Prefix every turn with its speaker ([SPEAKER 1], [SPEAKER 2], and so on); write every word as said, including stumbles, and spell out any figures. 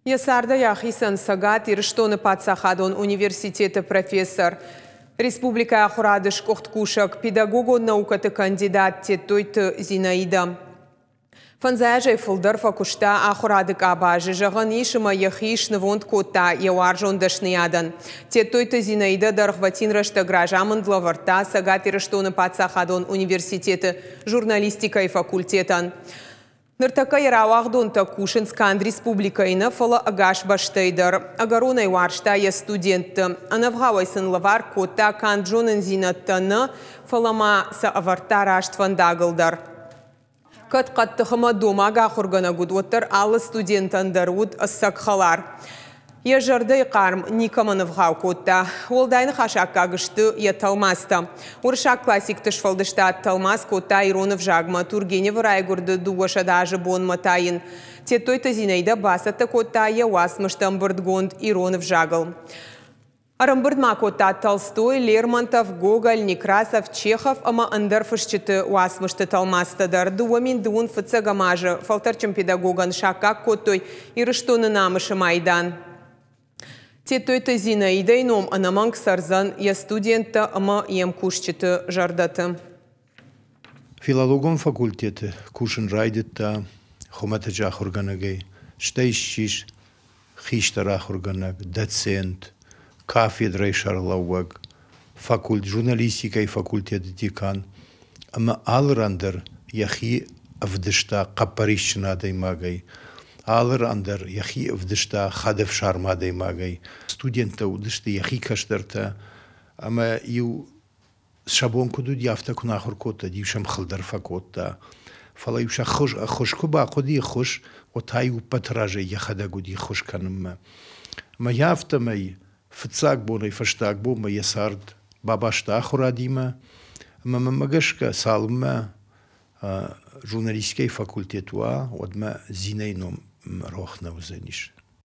[SPEAKER 1] Йӕ цардӕй ахицӕн Цӕгат Ирыстоны паддзахадон университеты профессор, республикӕйы ахуырады сгуыхт кусӕг, педагогон наукӕты кандидат Тедтойты Зинаидӕ. Фӕндзай азӕй фылдӕр фӕкуыста ахуырады къабазы, зӕгъӕн ис, ӕмӕ йӕхи снывонд кодта йӕ уарзон дӕсныйадӕн. Тедтойты Зинаидӕ дӕргъвӕтин рӕстӕг разамынд лӕвӕрдта Цӕгат Ирыстоны паддзахадон университеты журналистикӕйы факультетӕн. Ныртӕккӕ йӕ рауагъдонтӕ кусынц канд республикӕйы нӕ, фӕлӕ ӕгас бӕстӕйы дӕр. Ӕгӕронӕй уарзта йӕ студентты. Ӕнӕвгъауӕй сын лӕвар кодта канд зонындзинӕдтӕ нӕ, фӕлӕ ма сӕ ӕвӕрдта раст фӕндагыл дӕр. Кӕд хъӕддых ӕмӕ домаг ахуыргӕнӕг уыд, уӕддӕр алы студентӕн дӕр уыд ӕцӕг хӕлар. Йӕ зӕрдӕйы хъарм никӕмӕн ӕвгъау кодта. Уӕлдай ныхасы аккаг сты йӕ тӕлмацтӕ. Уырыссаг классикты сфӕлдыстад тӕлмац кодта ирон ӕвзагмӕ. Тургеневы райгуырды дыууӕсӕдӕ азы бонмӕ та йын Тедтойты Зинаидӕ бацӕттӕ кодта йӕ уацмысты ӕмбырдгонд ирон ӕвзагыл. Ӕрӕмбырд ма кодта Толстой, Лермонтов, Гоголь, Некрасов, Чехов ӕмӕ ӕндӕр фысджыты уацмысты тӕлмацтӕ дӕр. Дыууӕ мин дыууын фыццӕгӕм азы фӕлтӕрдджын педагогӕн саккаг кодтой Ирыстоны намысы майдан. Тедтойты Зинаидӕйы ном ӕнӕмӕнг цӕрдзӕн йӕ студенттӕ ӕмӕ йе мкусджыты зӕрдӕты.
[SPEAKER 2] Филологон факультеты кусын райдыдта хуымӕтӕджы ахуыргӕнӕгӕй, стӕй ссис хистӕр ахуыргӕнӕг, доцент, кафедрӕйы сӕргълӕууӕг, факульт, журналистикӕйы факультеты декан ӕмӕ алы ран дӕр йӕхи ӕвдыста хъӕппӕрисджын адӕймагӕй, алы ран дӕр йӕхи ӕвдыста хӕдӕфсарм адӕймагӕй. Студенттӕ уыдысты йӕхи кӕстӕртӕ ӕмӕ-иу сӕ бон куыд уыди, афтӕ куы нӕ ахуыр кодта, иу сӕм хыл дӕр фӕкодта. Фӕлӕ-иу сӕ ӕххуыс куы бахъуыди ӕххуыс, уӕд та-иу ӕппӕты разӕй йӕхӕдӕг уыди ӕххуыс кӕнынмӕ. Ӕмӕ йӕ афтӕмӕй фыццаг бонӕй фӕстаг бонмӕ йӕ цард бабаста ахуырадимӕ. Ӕмӕ мӕнмӕ гӕсгӕ, цалынмӕ журналистикӕйы факультет уа, уӕдмӕ Зинӕйы ном рох нӕ уыдзӕнис.